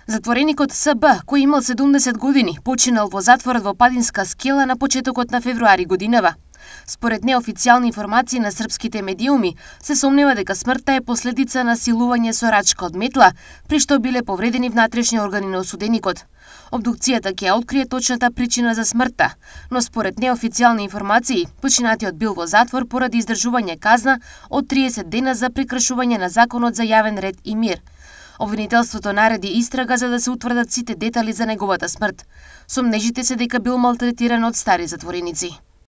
Затвореникот СБ, кој имал 70 години, починал во затворот во Падинска Скела на почетокот на февруари годинава. Според неофицијални информации на српските медиуми, се сомнева дека смртта е последица на силување со рачка од метла, при што биле повредени внатрешни органи на осуденикот. Обдукцијата ќе ја открие точната причина за смртта, но според неофицијални информации, починатиот бил во затвор поради издржување казна од 30 дена за прекршување на законот за јавен ред и мир. Обвинителството нареди истрага за да се утврдат сите детали за неговата смрт. Сомнежите се дека бил малтретиран од стари затвореници.